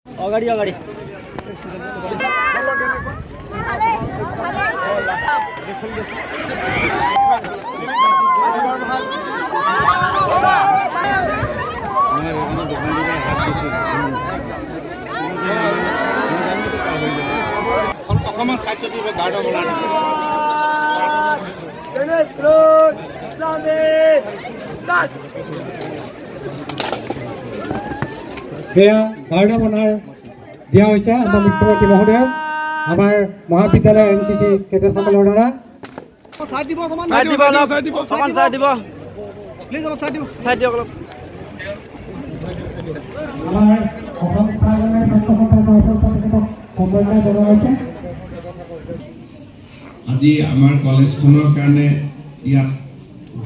अगाडि अगाडि অকমান সাইড দিব গাৰ্ড বলা সেয়া গাৰ্ড অফ অনাৰ দিয়া হৈছে আমাৰ মুখ্যমন্ত্ৰী মহোদয়ক, আমাৰ মহাবিদ্যালয়ৰ এন চি চি কেডেটসকলৰ দ্বাৰা। আমাৰ অসম চাহ ছাত্ৰ সন্থাৰ তৰফৰ পৰা তেখেতক সম্বৰ্ধনা জনোৱা হৈছে। আজি আমাৰ কলেজখনৰ কাৰণে ইয়াত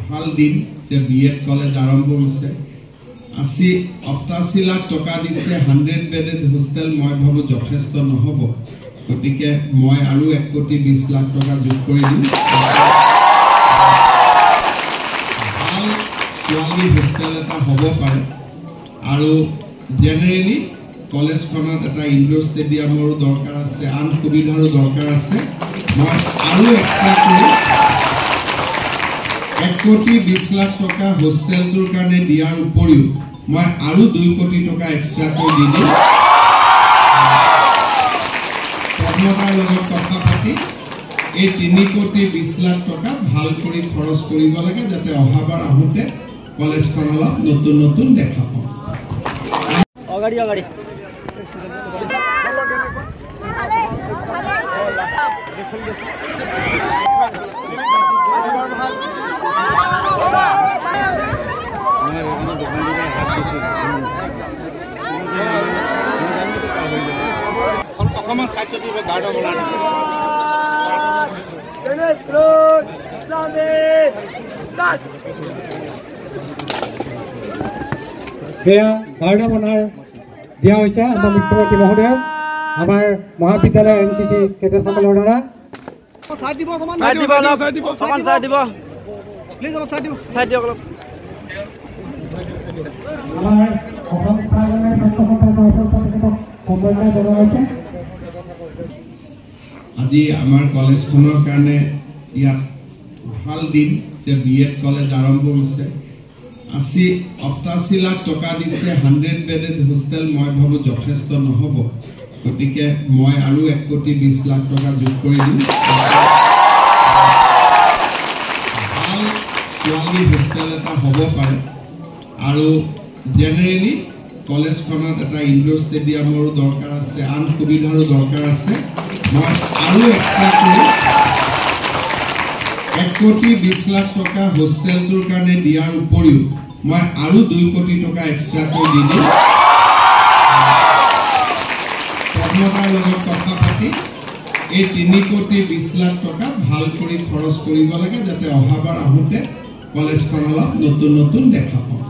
ভাল দিন যে বি এড কলেজ আৰম্ভ হৈছে। 88 লাখ টকা দিছে, 100 বেডেড হোষ্টেল মই ভাবোঁ যথেষ্ট নহ'ব, গতিকে মই আৰু 1 কোটি 20 লাখ টকা যোগ কৰি দিম। ভাল ছোৱালী হোষ্টেল এটা হ'ব পাৰে আৰু জেনেৰেলি কলেজখনত এটা ইনডোৰ ষ্টেডিয়ামৰো দৰকাৰ আছে, আন সুবিধাৰো দৰকাৰ আছে। মই আৰু এক্সট্ৰা কৰি 1 কোটি 20 লাখ টকা হোষ্টেলটোৰ কাৰণে দিয়াৰ উপৰিও মই আৰু 2 কোটি টকা এক্সট্ৰাকৈ দি দিম। পদ্মদাৰ লগত কথা পাতি এই 3 কোটি 20 লাখ টকা ভাল কৰি খৰচ কৰিব লাগে, যাতে অহাবাৰ আহোঁতে কলেজখন অলপ নতুন নতুন দেখা পাওঁ। अगाडि अगाडि অকমান সাইড দিব গাৰ্ড বলা সেয়া গাৰ্ড অফ অনাৰ দিয়া হৈছে আমাৰ মুখ্যমন্ত্ৰী মহোদয়ক, আমাৰ মহাবিদ্যালয়ৰ এন চি চি কেডেটসকলৰ দ্বাৰা। আমাৰ অসম চাহ ছাত্ৰ সন্থাৰ তৰফৰ পৰা তেখেতক সম্বৰ্ধনা জনোৱা হৈছে। আজি আমাৰ কলেজখনৰ কাৰণে ইয়াত ভাল দিন যে বি এড কলেজ আৰম্ভ হৈছে। 88 লাখ টকা দিছে, 100 বেডেড হোষ্টেল মই ভাবোঁ যথেষ্ট নহ'ব, গতিকে মই আৰু 1 কোটি 20 লাখ টকা যোগ কৰি দিম। ভাল ছোৱালী হোষ্টেল এটা হ'ব পাৰে আৰু জেনেৰেলি কলেজখনত এটা ইনডোৰ ষ্টেডিয়ামৰো দৰকাৰ আছে, আন সুবিধাৰো দৰকাৰ আছে। মই আৰু এক্সট্ৰা কৰি 1 কোটি 20 লাখ টকা হোষ্টেলটোৰ কাৰণে দিয়াৰ উপৰিও মই আৰু 2 কোটি টকা এক্সট্ৰাকৈ দি দিম। পদ্মদাৰ লগত কথা পাতি এই 3 কোটি 20 লাখ টকা ভাল কৰি খৰচ কৰিব লাগে, যাতে অহাবাৰ আহোঁতে কলেজখন অলপ নতুন নতুন দেখা পাওঁ।